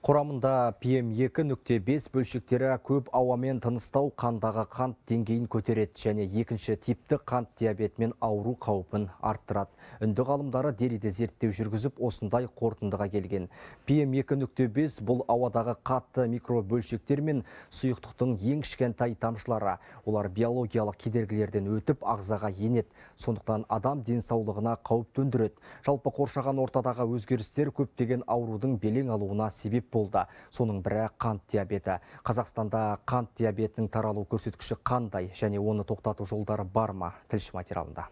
Құрамында PM2.5 бөлшектері көп ауамен тыныстау қандағы қант деңгейін көтереді және екінші типті қант диабетімен ауру қаупін арттырады. Үнді ғалымдары Делиде зерттеу жүргізіп, осындай қорытындыға келген. PM2.5 бұл ауадағы қатты микробөлшектер мен сұйықтықтың ең кішкентай тамшылары. Олар биологиялық кедергілерден өтіп ағзаға енеді. Сондықтан адам денсаулығына қауіп төндіреді. Жалпы қоршаған ортадағы өзгерістер көптеген аурудың белең алуына себеп болды. Соның бірі қант диабеті. Қазақстанда қант диабетінің таралу көрсеткіші қандай және оны тоқтату жолдары бар ма? Тілші материалында.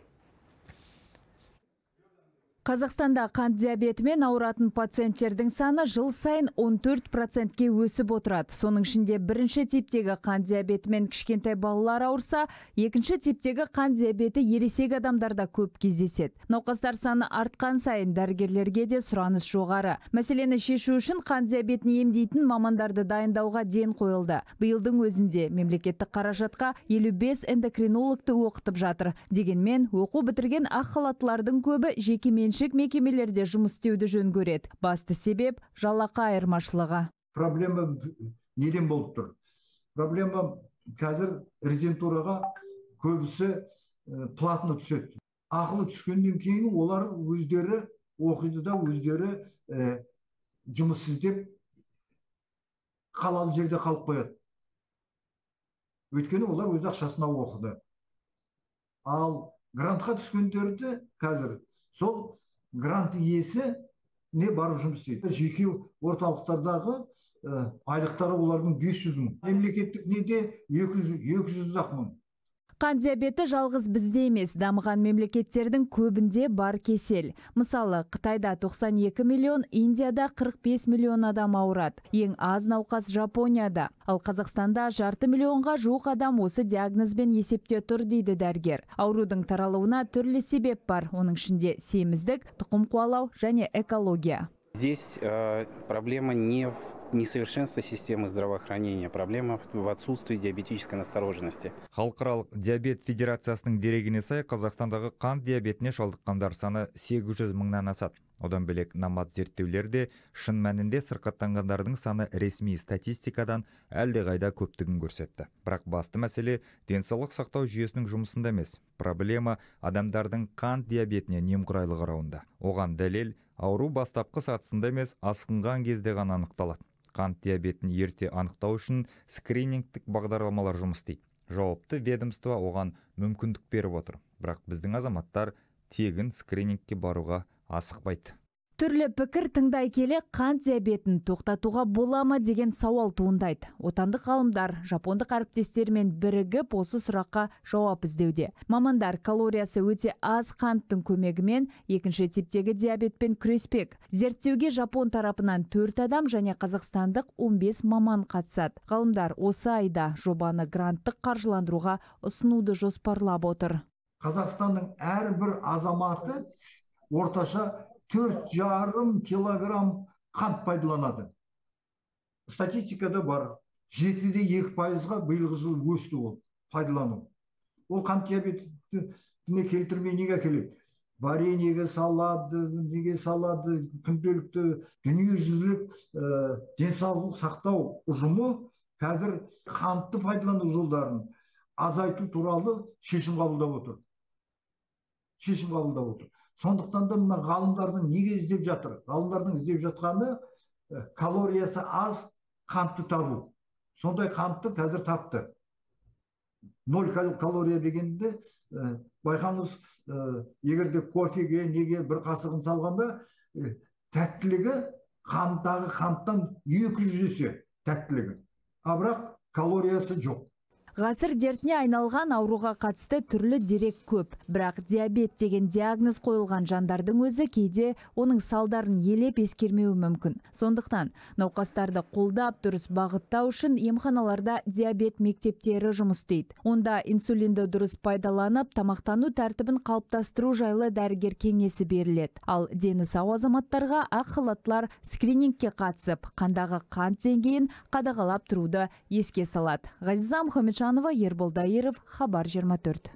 Қазақстанда қант диабетімен ауыратын пациенттердің саны жыл сайын 14%-ке өсіп отырады. Соның ішінде бірінші типтегі қант диабетімен кішкентай балалар ауырса, екінші типтегі қант диабеті ересек адамдарда көп кездеседі. Науқастар саны артқан сайын дәрігерлерге де сұраныс жоғары. Мәселені шешу үшін қант диабетін емдейтін мамандарды дайындауға ден қойылды. Биылдың өзінде мемлекеттік қаражатқа 55 эндокринологты оқытып жатыр. Дегенмен, оқу бітірген ақ халаттылардың көбі жекеменшік мекемелерде жұмыс істеуді жөн көреді. Басты себеп жалақы айырмашылығы. Проблема неден болып тұр? Проблема қазір резидентураға көбісі платно түседі. Ақылы түскеннен кейін олар өздері оқиды да өздері жұмыс іздеп қалалы жерде қалып қояды. Өйткені олар өз ақшасына оқыды. Ал грантқа түскендерді қазір сол грант иесі не барып жұмыс істейді. Жеке орталықтардағы айлықтары олардың 500 мың. Мемлекеттік неде 200 мың. Қант диабеті жалғыз бізде емес, дамыған мемлекеттердің көбінде бар кесел. Мысалы, Қытайда 92 миллион, Индияда 45 миллион адам ауырады. Ең аз науқас Жапонияда. Ал Қазақстанда 500 миллионға жуық адам осы диагнозбен есепте тұр дейді дәрігер. Аурудың таралуына түрлі себеп бар. Оның ішінде семіздік, тұқым қуалау және экология. Здесь проблема не в несовершенстве системы здравоохранения, проблема в отсутствии диабетической настороженности. Халықаралық диабет федерациясының дерегіне сай, Қазақстандағы қант диабетіне шалдыққандар саны 800 мыңнан асады. Одан бөлек намат зерттеулерде шын мәнінде сырқаттанғандардың саны ресми статистикадан әлдеқайда көптігін көрсетті. Бірақ басты мәселе денсаулық сақтау жүйесінің жұмысында емес. Проблема адамдардың қант диабетіне немқұрайлы қарауында. Оған дәлел ауру бастапқы сатысында емес, асқынған кезде ғана анықталады. Қант диабетін ерте анықтау үшін скринингтік бағдарламалар жұмыс істейді. Жауапты ведомство оған мүмкіндік беріп отыр. Бірақ біздің азаматтар тегін скринингке баруға асықпайды. Түрлі пікір тыңдай келе қант диабетін тоқтатуға бола ма деген сауал туындайды. Отандық ғалымдар жапондық әріптестерімен бірігіп осы сұраққа жауап іздеуде. Мамандар калориясы өте аз қанттың көмегімен екінші типтегі диабетпен күреспек. Зерттеуге Жапон тарапынан 4 адам және қазақстандық 15 маман қатысады. Ғалымдар осы айда жобаны гранттық қаржыландыруға ұсынуды жоспарлап отыр. Қазақстанның әрбір азаматы орташа 4,5 килограмм қант пайдаланады. Статистикада бар. 7-де 2%-ға биылғы жыл өсті ол пайдалану. Ол қант диабетіне келтірмей неге келеді? Вареньеге салады, неге салады, күнделікті дүниежүзілік денсаулық сақтау ұжымы қазір қантты пайдалану жолдарын азайту туралы шешім қабылдап отыр. Сондықтан да мына ғалымдардың неге іздеп жатыр? Ғалымдардың іздеп жатқаны калориясы аз қантты табу. Сондай қантты қазір тапты. 0 калория дегенде байқаңыз, егерде кофеге неге бір қасығын салғанда тәттілігі қанттағы қанттан 200 есе тәттілігі. А бірақ калориясы жоқ. Ғасыр дертіне айналған ауруға қатысты түрлі дерек көп. Бірақ диабет деген диагноз қойылған жандардың өзі кейде оның салдарын елеп ескермеуі мүмкін. Сондықтан науқастарды қолдап дұрыс бағыттау үшін емханаларда диабет мектептері жұмыс істейді. Онда инсулинді дұрыс пайдаланып, тамақтану тәртібін қалыптастыру жайлы дәрігер кеңесі беріледі. Ал дені сау азаматтарға ақ халаттылар скринингке қатысып, қандағы қант деңгейін қадағалап тұруды еске салады. Ғазиза Мұхамеджанова, Ербол Дайыров, Хабар 24.